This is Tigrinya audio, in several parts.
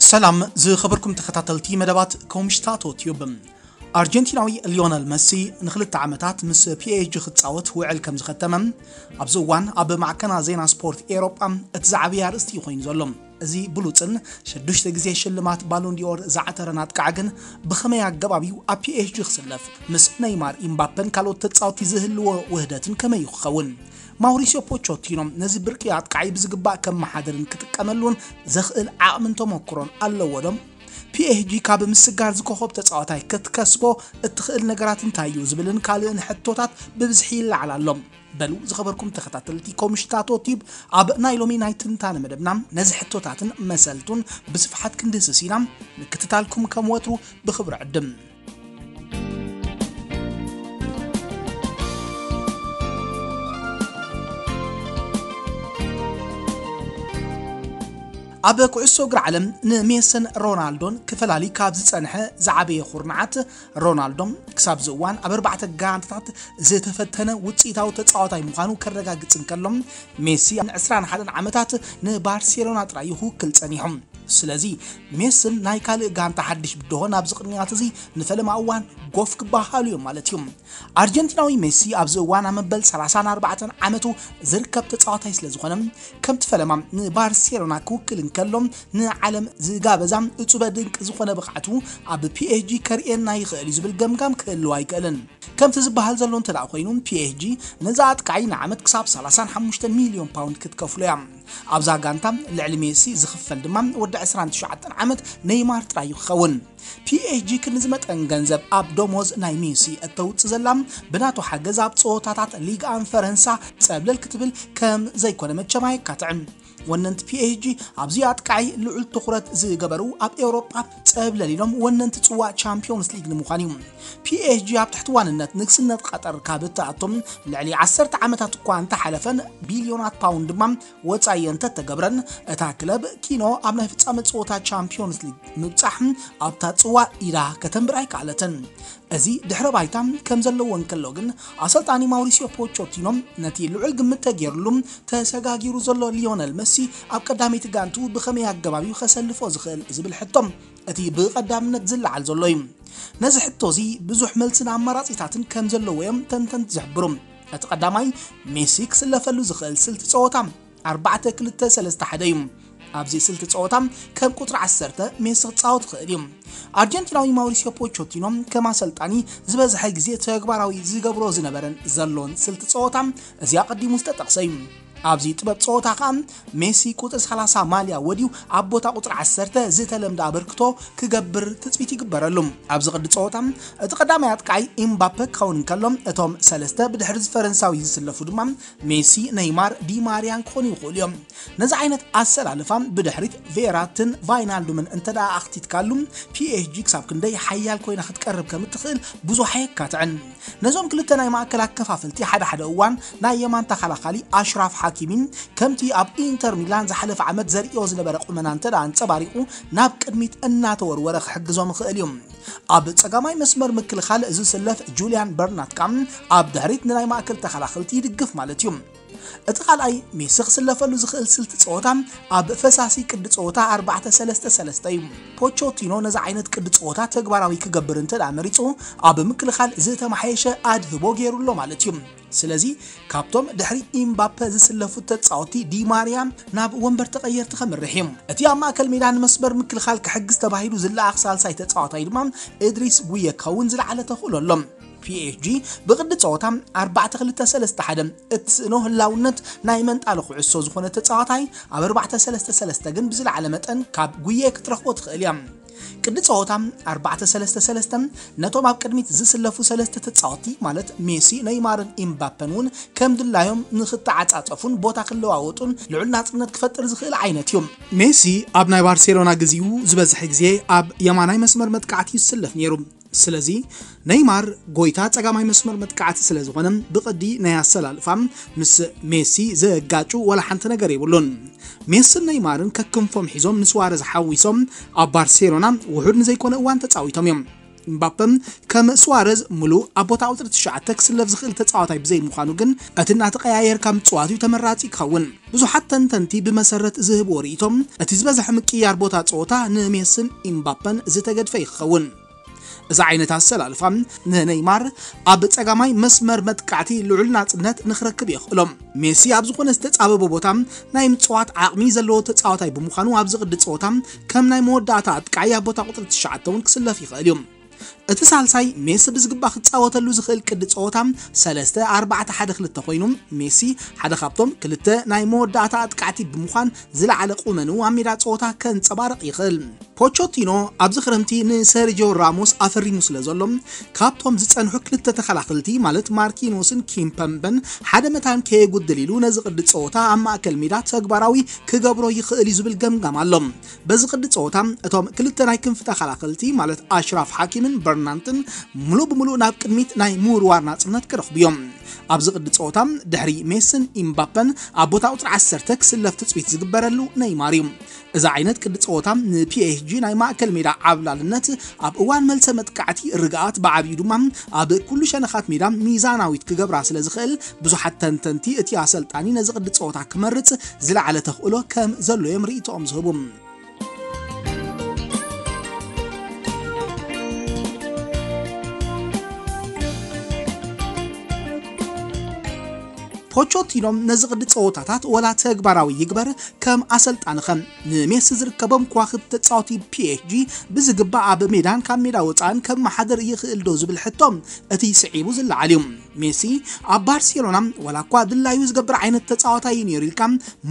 ሰላም ዝኸበርኩም ተኸታተልቲ መደባት ኮምሽታቶ ቲዩብ። ኣርጀንቲናዊ ሊዮነል መሲ ንክልተ ዓመታት ምስ ፒኤስጂ ክጻወት ውዕል ከም ዝኸተመ፣ ኣብዚ እዋን ኣብ ማዕከና ዜና ስፖርት ኤውሮጳ እቲ ዝዓበየ ኣርእስቲ ኮይኑ ዘሎ። እዚ ብሉጽን ሽዱሽተ ግዜ ሽልማት ባሎን ዲኦር ዝዓተረን ኣጥቃዒ ግን ብኸመይ ኣገባብ እዩ ኣብ ፒኤስጂ ክስለፍ? ምስ ነይማር፣ ኢምባፔን ካልኦት ተጻወትቲ ዝህልዎ ውህደትን ከመይ እዩ ክኸውን? ማውሪሲዮ ፖቾቲኖ ነዚ ብርቂ ኣጥቃዒ ብዝግባእ ከመሓድርን ክጥቀመሉን ዘኽእል ዓቕምን ተመክሮን ኣለዎ ዶ? ፒኤስጂ ካብ ምስጋር ዝኮኸብ ተጻዋታይ ክትከስቦ እትኽእል ነገራት እንታይ እዩ ዝብልን ካልእን ሕቶታት ብብዝሒ ይለዓል ኣሎ። በሉ ዝኸበርኩም ተኸታተልቲ ኮምሽታቶ ቲዩብ፣ ኣብ ናይ ሎሚ ናይ ትንታነ መደብና ነዚ ሕቶታትን መሰልቱን ብስፍሓት ክንድህስስ ኢና። ምክትታልኩም ከም ወትሩ ብኽብሪ ዕድም። ኣብ ኩዕሶ እግሪ ዓለም ንሜስን ሮናልዶን ክፈላሊ ካብ ዝጸንሐ ዝዓበየ ኩርናዓት፣ ሮናልዶ ክሳብ እዚ እዋን ኣብ ኣርባዕተ ጋንታታት ዝተፈተነ ውጽኢታዊ ተጻዋታይ ምዃኑ ከረጋግጽ እንከሎ፣ ሜሲ ን ዕስራን ሓደን ዓመታት ንባርሴሎና ጥራይ እዩ ክውክል ጸኒሑ። ስለዚ ሜስን ናይ ካልእ ጋንታ ሓድሽ ብድሆ ናብዚ ቅንያት እዚ ንፈለማ እዋን ጎፍ ክበሃሉ እዮም ማለት እዩ። ኣርጀንቲናዊ ሜሲ ኣብዚ እዋን ኣብ መበል ሰላሳን ኣርባዕተን ዓመቱ ዝርከብ ተጻዋታይ ስለ ዝኾነ፣ ከምቲ ፈለማ ንባርሴሎና ክውክል እንከሎ ንዓለም ዝጋበዛ እጹበ ድንቂ ዝኾነ ብቕዓቱ ኣብ ፒኤስጂ ከርእየና ይኽእል እዩ ዝብል ገምጋም ክህልው ኣይክእልን። ከምቲ ዝበሃል ዘሎ እንተ ደኣ ኮይኑ፣ ፒኤስጂ ነዚ ኣጥቃዒ ንዓመት ክሳብ ሰላሳን ሓሙሽተ ሚልዮን ፓውንድ ክትከፍሎ እያ። ኣብዛ ጋንታ ልዕሊ ሜሲ ዝኽፈል ድማ ወዲ ዕስራን ትሽዓተን ዓመት ኔይማር ጥራይ እዩ ክኸውን። ፒኤስጂ ክንዚ መጠን ገንዘብ ኣብ ደሞዝ ናይ ሜሲ እተውጽእ ዘላ፣ ብናቱ ሓገዝ ኣብ ጸወታታት ሊግ ኣን ፈረንሳ ጸብለል ክትብል ከም ዘይኮነ መቸም ኣየካትዕን። ወነንቲ ፒኤስጂ ኣብዚ ኣጥቃዒ ልዑል ትኹረት ዝገበሩ ኣብ ኤውሮጳ ጸብለል ኢሎም ወነንቲ ጽዋእ ቻምፒዮንስ ሊግ ንምዃን እዩ። ፒኤስጂ ኣብ ትሕቲ ዋንነት ንግስነት ቀጠር ካብ እትኣቶም ልዕሊ ዓሰርተ ዓመታት እኳ እንተሓለፈን፣ ቢልዮናት ፓውንድ ድማ ወጻኢ እንተተገብረን፣ እታ ክለብ ኪኖ ኣብ ናይ ፍጻመ ጸወታ ቻምፒዮንስ ሊግ ምብጻሕ ኣብታ ጽዋእ ኢዳ ከተንብር ኣይከኣለትን። እዚ ድሕረ ባይታ ከም ዘለዎ እንከሎ ግን፣ ኣሰልጣኒ ማውሪሲዮ ፖቾቲኖ ነቲ ልዑል ግምት ተገይሩሉ ተሰጋጊሩ ዘሎ ሊዮነል መሲ ኣብ ቀዳመይቲ ጋንቱ ብኸመይ ኣገባብ እዩ ከሰልፎ ዝኽእል ዝብል ሕቶ እቲ ብቐዳምነት ዝለዓል ዘሎ እዩ። ነዚ ሕቶ እዚ ብዙሕ መልስን ኣማራጺታትን ከም ዘለዎ እዮም ተንተንቲ ዝሕብሩ። እቲ ቀዳማይ፣ ሜሲ ክስለፈሉ ዝኽእል ስልቲ ጸወታ ኣርባዕተ ክልተ ሰለስተ ሓደ እዩ። ኣብዚ ስልቲ ጸወታ ከም ቁጽሪ ዓሰርተ ሜሲ ክጻወት ይኽእል እዩ። ኣርጀንቲናዊ ማውሪሲዮ ፖቾቲኖ ከም ኣሰልጣኒ ዝበዝሐ ግዜ ተግባራዊ ዝገብሮ ዝነበረን ዘሎን ስልቲ ጸወታ እዚ ኣቐዲሙ ዝተጠቕሰ እዩ። ኣብዚ ጥበብ ጸወታ ከኣ ሜሲ ቁጽሪ ሰላሳ ማልያ ወድዩ ኣብ ቦታ ቁጽሪ ዓሰርተ ዝተለምደ ኣበርክቶ ክገብር ትጽቢት ይግበረሉ። ኣብዚ ቅዲ ጸወታ እቲ ቀዳማይ ኣጥቃዒ ኢምባፔ ክኸውን እንከሎ፣ እቶም ሰለስተ ብድሕሪ ፈረንሳዊ ዝስለፉ ድማ ሜሲ፣ ነይማር፣ ዲማርያን ክኾኑ ይኽእሉ እዮም። ነዚ ዓይነት ኣሰላልፋ ብድሕሪት ቬራትን ቫይናልዱምን እንተ ደኣ ኣኽቲትካሉ፣ ፒኤስጂ ክሳብ ክንደይ ሓያል ኮይና ክትቀርብ ከም እትኽእል ብዙሕ ኣየካትዕን። ነዞም ክልተ ናይ ማእከል ኣከፋፈልቲ ሓደ ሓደ እዋን ናይ የማን ተኸላኻሊ ኣሽራፍ ሓኪሚ፣ ከምቲ ኣብ ኢንተር ሚላን ዝሓለፈ ዓመት ዘርእዮ ዝነበረ ቁመና እንተ ደኣ ኣንጸባሪቑ፣ ናብ ቅድሚት እናተወርወረ ክሕግዞም ይኽእል እዩ። ኣብ ጸጋማይ መስመር ምክልኻል ዝስለፍ ጁልያን በርናት ከኣ ኣብ ድሕሪት ንናይ ማእከል ተኸላኸልቲ ይድግፍ ማለት እዩ። እቲ ካልኣይ ሜሲ ክስለፈሉ ዝኽእል ስልቲ ጸወታ ኣብ ፈሳሲ ቅዲ ጸወታ ኣርባዕተ ሰለስተ ሰለስተ እዩ። ፖቾቲኖ ነዚ ዓይነት ቅዲ ጸወታ ተግባራዊ ክገብር እንተ ደኣ መሪጹ፣ ኣብ ምክልኻል ዝተመሓየሸ ኣድህቦ ገይሩ ኣሎ ማለት እዩ። ስለዚ ካብቶም ድሕሪ ኢምባፔ ዝስለፉ ተጻወቲ ዲማርያ ናብ ወንበር ተቐየርቲ ከምርሕ እዩ። እቲ ኣብ ማእከል ሜዳ ንመስመር ምክልኻል ክሕግዝ ተባሂሉ ዝለኣኽ ሳልሳይ ተጻዋታይ ድማ እድሪስ ጉየ ክኸውን ዝለዓለ ተኽእሎ ኣሎ። ፒኤስጂ ብቕዲ ጸወታ ኣርባዕተ ክልተ ሰለስተ ሓደ እትስእኖ ህላውነት ናይ መንጣሊ ኩዕሶ ዝኾነ ተጻዋታይ ኣብ ኣርባዕተ ሰለስተ ሰለስተ ግን ብዝለዓለ መጠን ካብ ጉየ ክትረኽቦ ትኽእል እያ። ቅዲ ጸወታ ኣርባዕተ ሰለስተ ሰለስተ ነቶም ኣብ ቅድሚት ዝስለፉ ሰለስተ ተጻወቲ ማለት ሜሲ፣ ነይማርን ኢምባፐን እውን ከም ድላዮም ንኽተዓጻጸፉን ቦታ ክለዋወጡን ልዑል ናጽነት ክፈጥር ዝኽእል ዓይነት እዩ። ሜሲ ኣብ ናይ ባርሴሎና ግዜኡ ዝበዝሐ ግዜ ኣብ የማናይ መስመር መጥቃዕቲ ይስለፍ ነይሩ። ስለዚ ነይማር ጎይታ ጸጋማይ መስመር መጥቃዕቲ ስለ ዝኾነ ብቕዲ ናይ ኣሰላልፋ ምስ ሜሲ ዘጋጩ ወላ ሓንቲ ነገር የብሉን። ሜስን ነይማርን ከክንፎም ሒዞም ንስዋረዝ ሓዊሶም ኣብ ባርሴሎና ውሑድ ንዘይኮነ እዋን ተጻዊቶም እዮም። እምባፐ ከም ሱዋረዝ ሙሉእ ኣብ ቦታ ቁፅሪ ትሽዓተ ክስለፍ ዝኽእል ተፃዋታይ ብዘይምዃኑ ግን፣ እቲ እናተቐያየርካ ምፅዋት እዩ ተመራፂ ክኸውን። ብዙሓት ተንተንቲ ብመሰረት ዝህብዎ ርእይቶም፣ እቲ ዝበዝሐ ምቅያር ቦታ ፀወታ ንሜስን ኢምባፐን ዝተገድፈ ይኸውን። እዚ ዓይነት ኣሰላልፋ ንነይማር ኣብ ጸጋማይ መስመር መጥቃዕቲ ልዑል ናጽነት ንኽረክብ የኽእሎ። ሜሲ ኣብ ዝኾነ ዝተጻበበ ቦታ ናይ ምጽዋት ዓቕሚ ዘለዎ ተጻዋታይ ብምዃኑ፣ ኣብዚ ቅዲ ጸወታ ከም ናይ መወዳእታ ኣጥቃዒ ኣብ ቦታ ቁጽሪ ትሽዓተ እውን ክስለፍ ይኽእል እዩ። እቲ ሳልሳይ ሜሲ ብዝግባእ ክጻወተሉ ዝኽእል ቅዲ ጸወታ ሰለስተ ኣርባዕተ ሓደ ክልተ ኮይኑ፣ ሜሲ ሓደ ካብቶም ክልተ ናይ መወዳእታ ኣጥቃዕቲ ብምዃን ዝለዓለ ቁመንኡ ኣብ ሜዳ ጸወታ ከንጸባርቕ ይኽእል። ፖቾቲኖ ኣብዚ ክረምቲ ንሰርጂዮ ራሞስ ኣፈሪሙ ስለ ዘሎ፣ ካብቶም ዝጸንሑ ክልተ ተኸላኸልቲ ማለት ማርኪኖስን ኪምፐምበን ሓደ መታን ከየጉድል ኢሉ ነዚ ቅዲ ጸወታ ኣብ ማእከል ሜዳ ተግባራዊ ክገብሮ ይኽእል እዩ ዝብል ገምጋም ኣሎ። በዚ ቅዲ ጸወታ እቶም ክልተ ናይ ክንፊ ተኸላኸልቲ ማለት ኣሽራፍ ሓኪምን በርናንትን ሙሉእ ብሙሉእ ናብ ቅድሚት ናይ ምውርዋር ናጽነት ክረኽቡ እዮም። ኣብዚ ቅዲ ጸወታ ድሕሪ ሜስን ኢምባፐን ኣብ ቦታ ቁጽሪ ዓሰርተ ክስለፍ ትጽቢት ዝግበረሉ ነይማር እዩ። እዚ ዓይነት ቅዲ ጸወታ ንፒኤስጂ ናይ ማእከል ሜዳ ዓብላልነት፣ ኣብ እዋን መልሰ መጥቃዕቲ ርግኣት፣ ብዓቢኡ ድማ ኣብ ኩሉ ሸነኻት ሜዳ ሚዛናዊት ክገብራ ስለ ዝኽእል፣ ብዙሓት ተንተንቲ እቲ ኣሰልጣኒ ነዚ ቅዲ ጸወታ ክመርጽ ዝለዓለ ተኽእሎ ከም ዘሎ እዮም ርእይቶኦም ዝህቡ። ፖቾቲኖ ነዚ ቅዲ ጸወታታት ወላ ተግባራዊ ይግበር፣ ከም ኣሰልጣኒ ኸ ንሜሲ ዝርከቦም ከዋኽብቲ ተጻወቲ ፒኤስጂ ብዝግባእ ኣብ ሜዳን ካብ ሜዳ ወጻእን ከመሓድር ይኽእል ዶ ዝብል ሕቶ እቲ ስዒቡ ዝለዓል እዩ። ሜሲ ኣብ ባርሴሎና ወላ እኳ ድላዩ ዝገብር ዓይነት ተጻዋታይ እዩ ነይሩ ኢልካ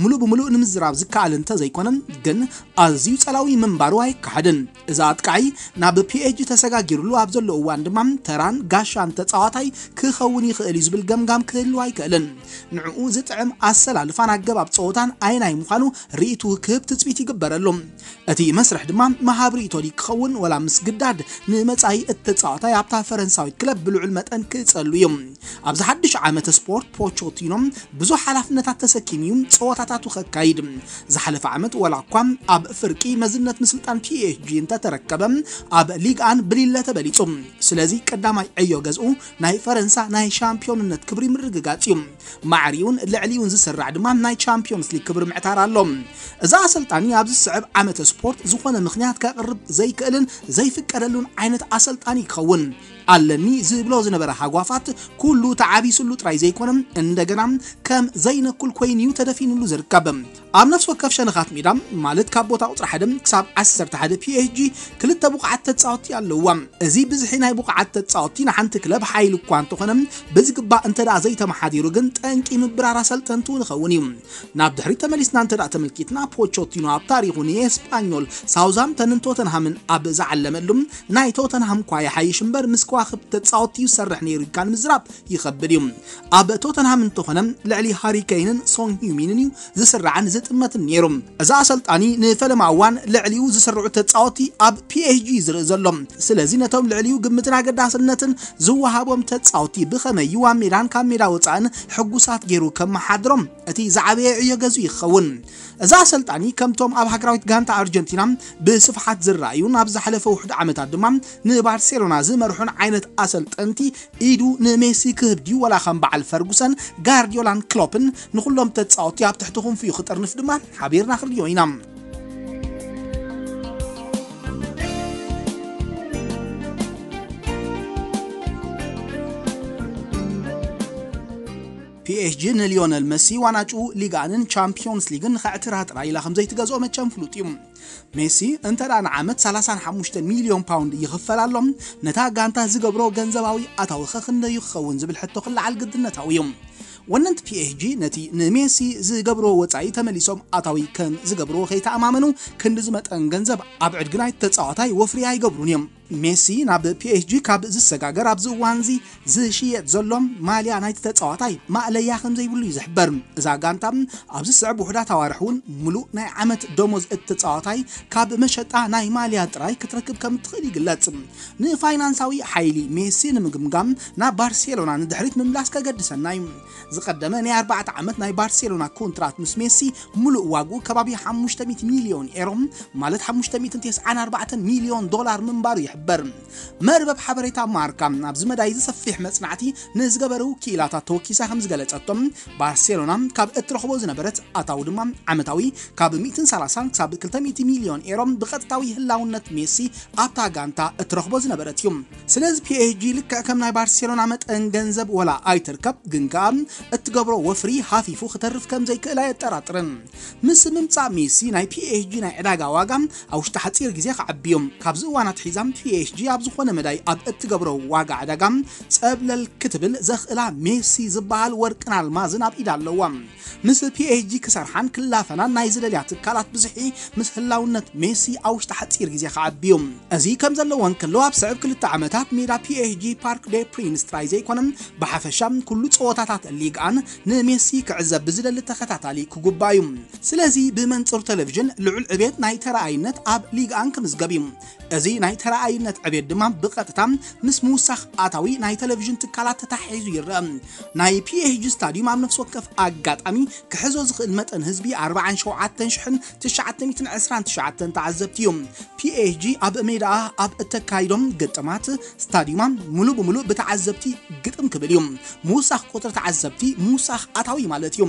ሙሉእ ብሙሉእ ንምዝራብ ዝከኣል እንተዘይኮነ፣ ግን ኣዝዩ ጸላዊ ምንባሩ ኣይከሓድን። እዚ ኣጥቃዒ ናብ ፒኤስጂ ተሰጋጊሩሉ ኣብ ዘሎ እዋን ድማ ተራን ጋሻን ተጻዋታይ ክኸውን ይኽእል እዩ ዝብል ገምጋም ክህልው ኣይክእልን። ንዕኡ ዝጥዕም ኣሰላልፋን ኣገባብ ጸወታን ኣየናይ ምዃኑ ርእይቱ ክህብ ትጽቢት ይግበረሉ። እቲ መስርሕ ድማ መሃብ ርእይቶ ድዩ ክኸውን፣ ወላ ምስ ግዳድ ንመጻኢ እቲ ተጻዋታይ ኣብታ ፈረንሳዊት ክለብ ብልዑል መጠን ክእጸሉ እዩ። ኣብዚ ሓድሽ ዓመተ ስፖርት ፖቾቲኖ ብዙሕ ሓላፍነታት ተሰኪሙ እዩ ጸወታታቱ ከካይድ። ዝሓለፈ ዓመት ወላ እኳ ኣብ ፍርቂ መዝነት ምስልጣን ፒኤስጂ እንተተረከበ፣ ኣብ ሊግ ኣን ብሊለ ተበሊጹ። ስለዚ ቀዳማይ ዕዮ ገዝኡ ናይ ፈረንሳ ናይ ሻምፒዮንነት ክብሪ ምርግጋጽ እዩ። ማዕሪኡን ልዕሊኡን ዝስራዕ ድማ ናይ ቻምፒዮንስ ሊግ ክብሪ ምዕታር ኣሎ። እዚ ኣሰልጣኒ ኣብዚ ዝስዕብ ዓመተ ስፖርት ዝኾነ ምኽንያት ከቕርብ ዘይክእልን ዘይፍቀደሉን ዓይነት ኣሰልጣኒ ይኸውን። ኣለኒ ዝብሎ ዝነበረ ሃጓፋት ኩሉ ተዓቢሱሉ ጥራይ ዘይኮነ፣ እንደገና ከም ዘይነኩል ኮይኑ እዩ ተደፊኑሉ ዝርከብ። ኣብ ነፍሲ ወከፍ ሸነኻት ሜዳ፣ ማለት ካብ ቦታ ቁጽሪ ሓደ ክሳብ ዓሰርተ ሓደ ፒኤስጂ ክልተ ብቑዓት ተጻወትቲ ኣለውዋ። እዚ ብዝሒ ናይ ብቑዓት ተጻወትቲ ንሓንቲ ክለብ ሓይሊ እኳ እንተኾነ፣ ብዝግባእ እንተ ደኣ ዘይተመሓዲሩ ግን ጠንቂ ምብራር ኣሰልጠንቱ ንኸውን እዩ። ናብ ድሕሪት ተመሊስና እንተ ደኣ ተመልኪትና፣ ፖቾቲኖ ኣብ ታሪኹ ንኤስፓኞል፣ ሳውዝሃምፕተንን ቶተንሃምን ኣብ ዝዓለመሉ፣ ናይ ቶተንሃም እኳ ይሓይሽ እምበር ምስ ከዋኽብቲ ተጻወትቲ እዩ ዝሰርሕ ነይሩ ኢልካ ንምዝራብ ይኸብድ እዩ። ኣብ ቶተንሃም እንተኾነ ልዕሊ ሃሪ ኬይንን ሶን ሂዩሚንን እዩ ዝስራዕን ዝጥመትን ነይሩ። እዚ ኣሰልጣኒ ንፈለማ እዋን ልዕሊኡ ዝስርዑ ተጻወትቲ ኣብ ፒኤስጂ እዩ ዝርኢ ዘሎ። ስለዚ ነቶም ልዕሊኡ ግምትን ኣገዳስነትን ዝወሃቦም ተጻወትቲ ብኸመይ እዩ ኣብ ሜዳን ካብ ሜዳ ወጻእን ሕጉሳት ገይሩ ከመሓድሮም እቲ ዝዓበየ ዕዮ ገዝኡ ይኸውን። እዚ ኣሰልጣኒ ከምቶም ኣብ ሃገራዊት ጋንታ ኣርጀንቲና ብስፍሓት ዝረኣዩን ኣብ ዝሓለፈ ውሑድ ዓመታት ድማ ንባርሴሎና ዝመርሑን ዓይነት ኣሰልጠንቲ ኢዱ ንሜሲ ክህብ ድዩ፣ ወላ ከም በዓል ፈርጉሰን፣ ጋርዲዮላን ክሎፕን ንኹሎም ተጻወትቲ ኣብ ትሕቲ ክንፊኡ ክጥርንፍ ድማ ሓቢርና ክንሪኦ ኢና። ፒኤስጂ ንሊዮነል መሲ ዋናጭኡ ሊግ ኣንን ቻምፒዮንስ ሊግን ንኸዕትራ ጥራይ ኢላ ከም ዘይትገዝኦ መቸም ፍሉጥ እዩ። ሜሲ እንተ ደኣ ንዓመት ሰላሳን ሓሙሽተ ሚልዮን ፓውንድ ይኽፈል ኣሎ፣ ነታ ጋንታ ዝገብሮ ገንዘባዊ ኣታዊ ኸ ክንደዩ ክኸውን ዝብል ሕቶ ክለዓል ግድነታዊ እዩ። ወነንቲ ፒኤስጂ ነቲ ንሜሲ ዝገብርዎ ወጻኢ ተመሊሶም ኣታዊ ከም ዝገብርዎ ከይተኣማመኑ፣ ክንዲ ዝመጠን ገንዘብ ኣብ ዕድጊ ናይቲ ተጻዋታይ ወፍሪ ኣይገብሩን እዮም። ሜሲ ናብ ፒኤስጂ ካብ ዝሰጋገር ኣብዚ እዋንዚ ዝሽየጥ ዘሎ ማልያ ናይቲ ተጻዋታይ ማእለያ ከም ዘይብሉ እዩ ዝሕበር። እዛ ጋንታ ኣብዚ ዝስዕብ ውሑዳት ኣዋርሕ እውን ሙሉእ ናይ ዓመት ደሞዝ እቲ ተጻዋታይ ካብ መሸጣ ናይ ማልያ ጥራይ ክትረክብ ከም እትኽእል ይግለጽ። ንፋይናንሳዊ ሓይሊ ሜሲ ንምግምጋም ናብ ባርሴሎና ንድሕሪት ምምላስ ከገድሰና እዩ። ዝቐደመ ናይ ኣርባዕተ ዓመት ናይ ባርሴሎና ኮንትራት ምስ ሜሲ ሙሉእ ዋግኡ ከባቢ ሓሙሽተ ሚእቲ ሚልዮን ኤሮ፣ ማለት ሓሙሽተ ሚእትን ተስዓን ኣርባዕተን ሚልዮን ዶላር ምንባሩ ይሕብር። በር መርበብ ሓበሬታ ማርካ ኣብዚ መዳይ እዚ ሰፊሕ መጽናዕቲ ንዝገበሩ ክኢላታት ተወኪሳ ከም ዝገለጸቶም፣ ባርሴሎና ካብ እትረኽቦ ዝነበረት ኣታዊ ድማ ዓመታዊ ካብ ሚእትን ሰላሳን ክሳብ ክልተ ሚእቲ ሚልዮን ኤሮ ብቐጥታዊ ህላውነት ሜሲ ኣብታ ጋንታ እትረኽቦ ዝነበረት እዩ። ስለዚ ፒኤስጂ ልክዕ ከም ናይ ባርሴሎና መጠን ገንዘብ ወላ ኣይትርከብ፣ ግን ከኣ እትገብሮ ወፍሪ ሃፊፉ ክተርፍ ከም ዘይክእል ኣየጠራጥርን። ምስ ምምጻእ ሜሲ ናይ ፒኤስጂ ናይ ዕዳጋ ዋጋ ኣብ ውሽጢ ሓጺር ግዜ ክዓቢ እዩ። ካብዚ እዋን ኣትሒዛ ፒኤስጂ ኣብ ዝኾነ መዳይ ኣብ እትገብሮ ዋጋ ዕዳጋ ጸብለል ክትብል ዘኽእላ ሜሲ ዝበሃል ወርቅን ኣልማዝን ኣብ ኢዳ ኣለዋ። ምስ ፒኤስጂ ክሰርሓን ክላፈናን ናይ ዝደልያ ትካላት ብዝሒ ምስ ህላውነት ሜሲ ኣብ ውሽጢ ሓጺር ግዜ ክዓቢ እዩ። እዚ ከም ዘለዎ እንከሎ ኣብ ስዕብ ክልተ ዓመታት ሜዳ ፒኤስጂ ፓርክ ዴ ፕሪንስ ጥራይ ዘይኮነ ብሓፈሻ ኩሉ ጸወታታት ሊግ ኣን ንሜሲ ክዕዘብ ብዝደሊ ተኸታታሊ ክጉባእ እዩ። ስለዚ ብመንጽር ቴሌቪዥን ልዑል ዕቤት ናይ ተረኣይነት ኣብ ሊግ ኣን ክምዝገብ እዩ። እዚ ናይ ተረኣይነት ዕቤት ድማ ብቐጥታ ምስ ምውሳኽ ኣታዊ ናይ ቴሌቪዥን ትካላት ተታሒዙ ይረአ። ናይ ፒኤስጂ ስታዲዩም ኣብ ነፍሲ ወከፍ ኣጋጣሚ ክሕዞ ዝኽእል መጠን ህዝቢ ኣርባዓን ሸውዓተን ሽሕን ትሽዓተ ሚእትን ዕስራን ትሽዓተን ተዓዘብቲ እዩ። ፒኤስጂ ኣብ ሜዳኣ ኣብ እተካይዶም ግጥማት ስታዲዩማ ሙሉ ብሙሉ ብተዓዘብቲ ግጥም ክብል እዩ። ምውሳኽ ቁጽሪ ተዓዘብቲ ምውሳኽ ኣታዊ ማለት እዩ።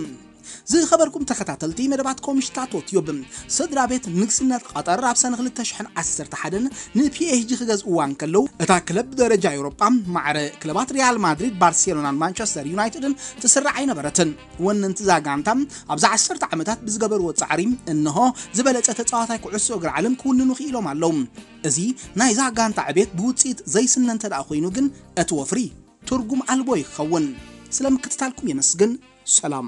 ዝኸበርኩም ተኸታተልቲ መደባት ኮምሽታቶ ቲዩብ፣ ስድራ ቤት ንግስነት ቀጠር ኣብ ሰነ ክልተ ሽሕን ዓሰርተ ሓደን ንፒኤስጂ ክገዝእዋ እንከለዉ፣ እታ ክለብ ብደረጃ ኤውሮጳ ማዕረ ክለባት ሪያል ማድሪድ፣ ባርሴሎናን ማንቸስተር ዩናይትድን ትስራዕ ኣይነበረትን። ወነንቲ እዛ ጋንታ ኣብዚ ዓሰርተ ዓመታት ብዝገበርዎ ጻዕሪ እንሆ ዝበለጸ ተጻዋታይ ኩዕሶ እግሪ ዓለም ክውንኑ ክኢሎም ኣለዉ። እዚ ናይዛ ጋንታ ዕቤት ብውጽኢት ዘይስነ እንተ ደኣ ኮይኑ ግን እቲ ወፍሪ ትርጉም ኣልቦ ይኸውን። ስለ ምክትታልኩም የመስግን። ሰላም።